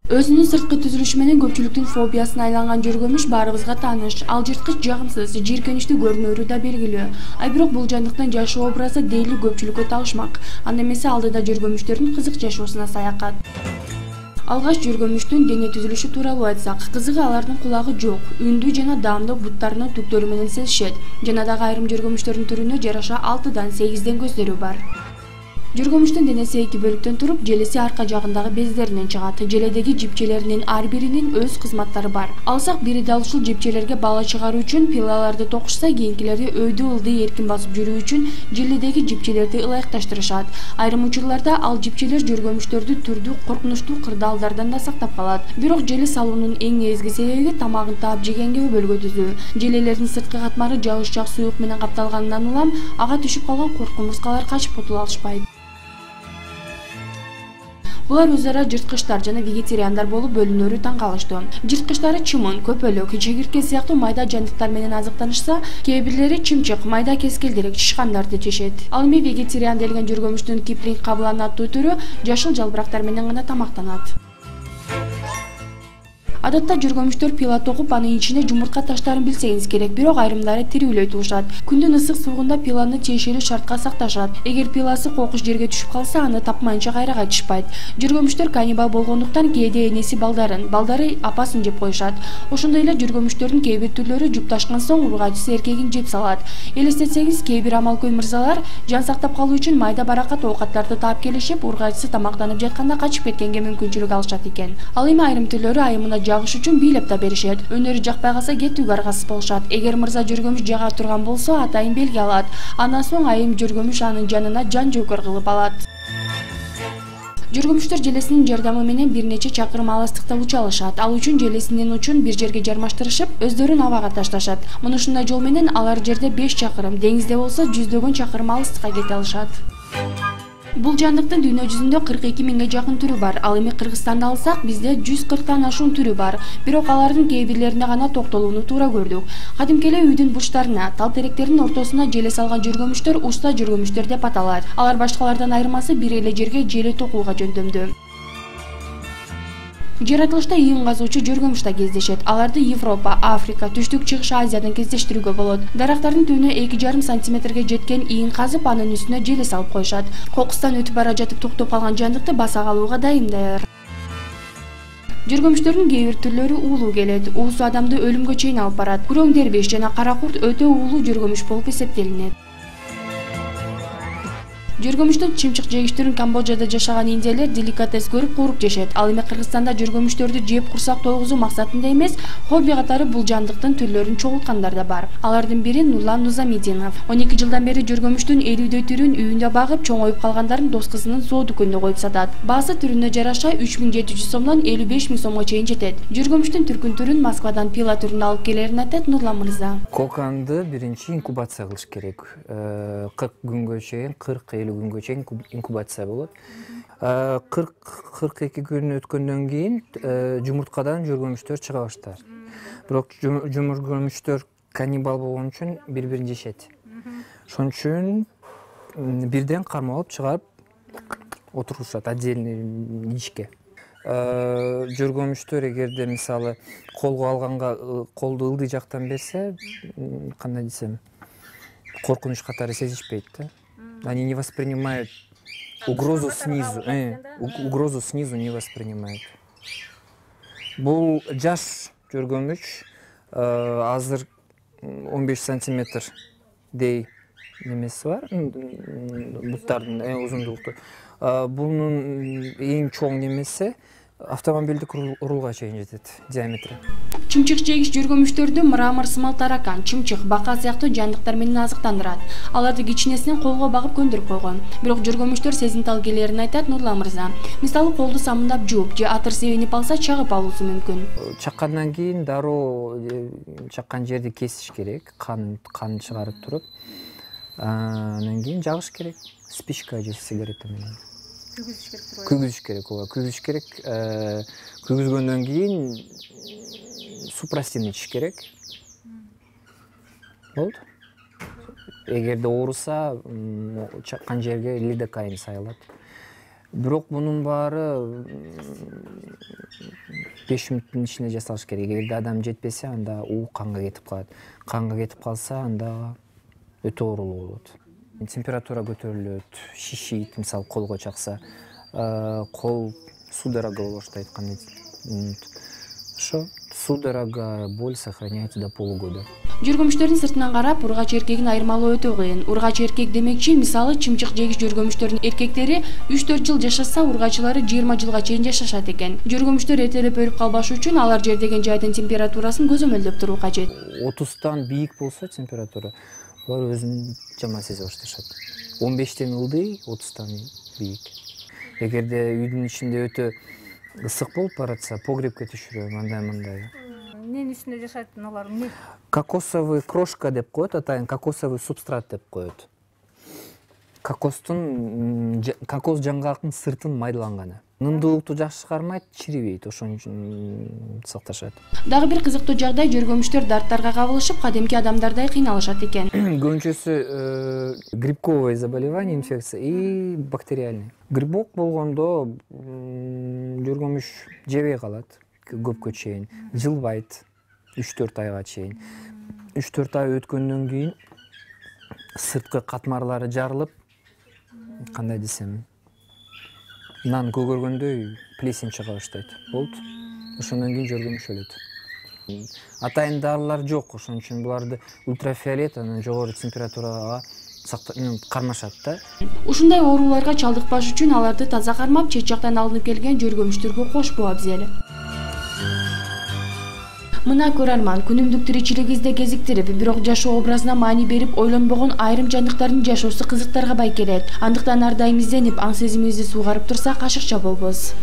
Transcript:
Өзүнүн сырткы түзүлүшү менен көпчүлүктүн фобиясына айланган жөргөмүш баарыбызга тааныш. Ал жырткыч, жагымсыз, жийиркеничтүү көрүнөрү да белгилүү. Бирок бул жандыктын жашоо образы дээрлик көпчүлүккө табышмак. Анда эмесе алдыда жөргөмүштөрдүн кызык жашоосуна саякат. Алгач жөргөмүштүн дене түзүлүшү тууралуу айтсак, кызыгы алардын кулагы жок, үндүү жана даамдуу буттарынын түктөрү менен сезишет. Жана дагы айрым жөргөмүштөрдүн түрүнө жараша 6-дан 8 көздөрү бар. Жөргөмүштүн денеси 2 бөлүктөн туруп, желеси арка жагындагы бездеринен чыгат. Желедеги жипчелеринин ар биринин өз кызматтары бар. Алсак бири дал ушул жипчелерге бала чыгаруу үчүн пилаларды токушса, кийинкилери өйдү ылдый эркин басып жүрүү үчүн желедеги жипчелерди ылайыкташтырышат. Айрым учурларда ал жипчелер жөргөмүштөрдү түрдүү коркунучтуу кырдаалдардан да сактап калат. Бирок желе салуунун эң негизги себеби тамагын таап жегенге өбөлгө түзүү. Желелердин сырткы катмары жагышчаак суюк менен капталганынан улам ага түшүп калган курт кумурскалар качып кутула алышпайт. Булар өз ара жырткычтар жана вегетариандар болуп бөлүнөрү таң калыштуу. Жырткычтары чымын, көпөлөк, чегиртке сыяктуу майда жандыктар менен азыктанышса, кээ бирлери чымчык, майда кескелдерек, чычкандарды жешет. Ал эми вегетариан делген жөргөмүштүн Киплинг кабылан аттуу түрү жашыл жалбырактар менен гана тамактанат. Адатта жөргөмүштөр пила токуп, анын ичине жумуртка таштарын билсеңиз керек, бирок айрымдары тирүүлөй туушат. Күндүн ысык суугунда пиланы тиешелүү шартка сакташат. Эгер пиласы кокуш жерге түшүп калса, аны тапмайынча кайра кайтышпайт. Жөргөмүштөр каннибал болгондуктан кээде энеси балдары апасын жеп коюшат. Ошондой эле жөргөмүштөрдүн кээ бир түрлөрү жупташкан соң ургачысы эркегин жеп салат. Элестетсеңиз, кээ бир амалкөй мырзалар жан сактап калуу үчүн майда баракат оокаттарды таап келишип, ургачысы тамактанып жатканда качып кеткенге мүмкүнчүлүк алышат экен. Ал эми айрым түрлөрү айымына жагыш үчүн бийлеп да беришет. Өнөрү жакпай калса кетүүгө аргасыз болушат. Эгер мырза жөргөмүш жага турган болсо, атайын белги алат. Андан соң айым жөргөмүш анын жанына жан жөөкөр кылып алат. Жөргөмүштөр желесинин жардамы менен бир нече чакырым алыстыкта уча алышат. Ал үчүн желесинин учун бир жерге жармаштырышып, өздөрүн абага ташташат. Мынушундай жол менен алар жерде 5 чакырым, деңизде болсо 100 чакырым алыстыкка кете алышат. Бул жандыктын дүйнө жүзүндө 42 миңге жакын түрү бар. Ал эми Кыргызстанды алсак, бизде 140тан ашуун түрү бар. Бирок алардын кээ бирлерине гана токтолууну туура көрдүк. Кадимки эле үйдүн бурчтарына, тал теректердин ортосуна желе салган жөргөмүштөр уста жөргөмүштөр деп аталат. Алар башкалардан айырмасы бир эле жерге желе токууга жөндөмдүү. Жаратылышта ийин казуучу жөргөмүш да кездешет. Аларды Европа, Африка, Түштүк Чыгыш Азиядан кездештирүүгө болот. Дарактардын түбүнө 2,5 сантиметрге жеткен ийин казып, анын үстүнө желе салып коюшат. Кокустан өтүп бара жатып токтоп калган жандыкты баса калууга дайыр. Жөргөмүштөрдүн кээ бир түрлөрү уулуу келет. Уусу адамды өлүмгө чейин алып барат. Күрөң дербеш жана кара курт өтө уулуу жөргөмүш болуп эсептелинет. Жөргөмүштүн чымчык жегич Камбоджада жашаган индиялер деликатес көрүп кууруп жешет. Ал эми Кыргызстанда жөргөмүштөрдү жеп курсак тойгузуу максатында эмес, хобби катары бул жандыктын түрлөрүн чогулткандар да бар. Алардын бири Нурлан Нузамидинов. 12 жылдан бери жөргөмүштүн 50 түрүн үйүндө багып, чоңоюп калгандарын дос кызынын соо дүкөнүнө коюп сатат. Баасы түрүнө жараша 3700 сомдон 55 000 сомго чейин жетет. Жөргөмүштүн түркүн түрүн Москвадан пила түрүндө алып келерин айтат Нурлан мырза. Коканды биринчи инкубация кылыш керек. 40 күнгө чейин, 40-50 күнгө чейин инкубация болот. 40-42 күн өткөндөн кийин жумурткадан жөргөмүштөр чыга баштайт. Бирок жөргөмүштөр каннибал болгон үчүн бири-бирин жешет. Ошон үчүн бирден кармап алып чыгарып отурушат отдельный ичке. Жөргөмүштөр эгерде мисалы колго алганга колду ылдый жактан берсе, кандай десем, коркунуч катары сезишпейт да. Они не воспринимают угрозу снизу. Угрозу снизу не воспринимают. Бул жаш жөргөмүч азыр 15 сантиметрдей немеси бар. Буттардын узундугу. Бунун эң чоң немеси автомобилдик рулга чейин жетет диаметри. Чымчык жегич жөргөмүштөрдү мрамор сымал таракан, чымчык, бака сыяктуу жандыктар менен азыктандырат. Аларды кичинесинен колго багып көндүрүп койгон. Бирок жөргөмүштөр сезимтал келерин айтат Нурлан мырза. Мисалы колду самындап жууп же атыр себенип алса чагып алуусу мүмкүн. Чаккандан кийин дароо чаккан жерди кесиш керек, кан чыгарып туруп. Андан кийин жагыш керек. Спичка же сигарета менен. Күгүзүш керек, ооба, күгүзүш керек. Күгүзгөндөн кийин супрастин ичиш керек. Болду. Эгерде ооруса, чаккан жерге лидокаин сайылат. Бирок мунун баары 5 мүнөттүн ичинде жасалыш керек. Эгерде адам жетпесе, анда у канга кетип калат. Канга кетип калса, анда өтө оорулуу болот. Температура көтөрүлөт, шишийт, мисалы колго чакса, кол судорога боло баштайт, кандай ошо судорога, боль сохраняется до полугода. Жүргүмүштөрдүн сыртынан карап, ургач эркегин айырмалоо өтө кыйын. Ургач эркек демекчи, мисалы, чымчык жегич жүргүмүштөрдүн эркектери 3-4 жыл жашаса, ургачылары 20 жылга чейин жашашат экен. Жүргүмүштөр эртелеп өлүп калбаш үчүн алар жер деген жайдын температурасын көзөмөлдөп туруу кажет. 30тан бийик болсо температура, булар өзүн жаман сезе башташат. 15тен ылдый, 30тан бийик. Эгерде үйдүн ичинде өтө ысык болуп баратса, погребке түшүрөм, андай. Эмненин үстүндө жашайт алар? Эмне? Кокосовый крошка деп коет, атайын кокосовый субстрат деп коет. Кокос жаңгактын сыртын майдаланганы. Нымдуулукту жакшы чыгармайт, чирибейт, ошон үчүн сакташат. Дагы бир кызыктуу жагдай, жүргүмүштөр дарттарга кабылышып, кадимки адамдардай кыйналышат экен. Көбүнчөсү грибковое заболевание, инфекция и бактериальный. Грибок болгондо жүргүмүш жебей калат көпкө чейин, жылбайт 3-4 айга чейин. 3-4 ай өткөндөн кийин сырткы катмарлары жарылып, кандай десем, нан көгөргөндөй плесень чыга баштайт. Болот. Ошондон кийин жүргүмүш өлөт. Атайын дарылар жок, ошон үчүн буларды ультрафиолет, анан жогору температурага кармашат да. Ушундай ооруларга чалдыкпаш үчүн аларды таза кармап, чет жактан алынып келген жүргүмүштөргө кошпоо абзел. Мына көрөрман, күнүмдүк тиричилигибизде кезиктирип, бирок жашоо образына маани берип, ойлонбогон айрым жандыктардын жашоосу кызыктарга бай келет. Андыктан ар дайым изденип, аң сезимибизди суугарып турсак, ашыкча болбос.